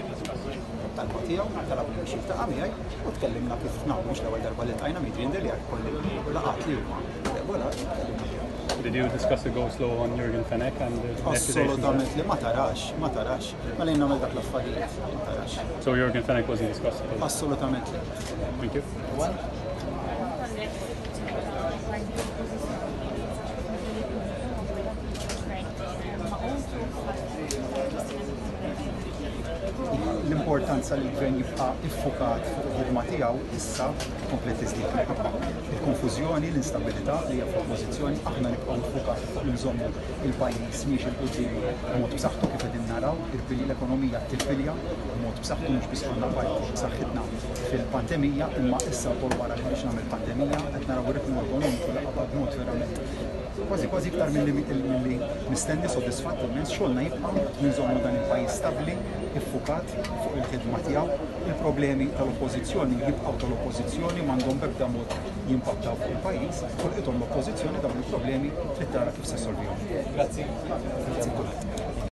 you discuss it? Talba tiegħu, talabni biex jiltaqa' miegħi u tkellimna kif nafu mhux l-ewwel darba li ltqajna ma' Adrian Delia kolli laqgħat li huma regolari tkellimna fihom. Did you discuss the go slow on Yorgen Fenech and the accusations? Assolutament li ma tarax, ma tarax, ma lejn nagħmel dak l-affarijiet, ma tarax. So Yorgen Fenech wasn't discussed at all? Assolutament le. Thank you. L-importanza li l-gvern jibqa' iffukat fuq il-ħidma tiegħu issa komplet tiżdied minħabba il-konfużjoni, l-instabilità li hija fl-oppożizzjoni, aħna nibqgħu ffukati fuq li nżommu il-pajjiż miexi 'l quddiem b'mod b'saħħtu kif qegħdin naraw, l-ekonomija tirpilja b'mod b'saħħtu mhux biss konna parti b'saħħitna fil-pandemija imma issa wkoll wara li ħriġna mill-pandemija qed naraw ir-ritmu ekonomiku li qabad b'mod verament kważi kważi iktar milli milli mistenni sodisfatt immens xogħolna jibqa' li nżommu dan il-pajjiż stabbli, iffukat fuq il-ħidma tiegħu. Il-problemi tal-Oppożizzjoni jibqgħu tal-Oppożizzjoni m'għandhom b'ebda mod jimpattaw fuq il-pajjiż, ħolqithom l-Oppożizzjoni dawn il-problemi trid tara kif se ssolvihom. Grazzi. Grazzi kulħadd.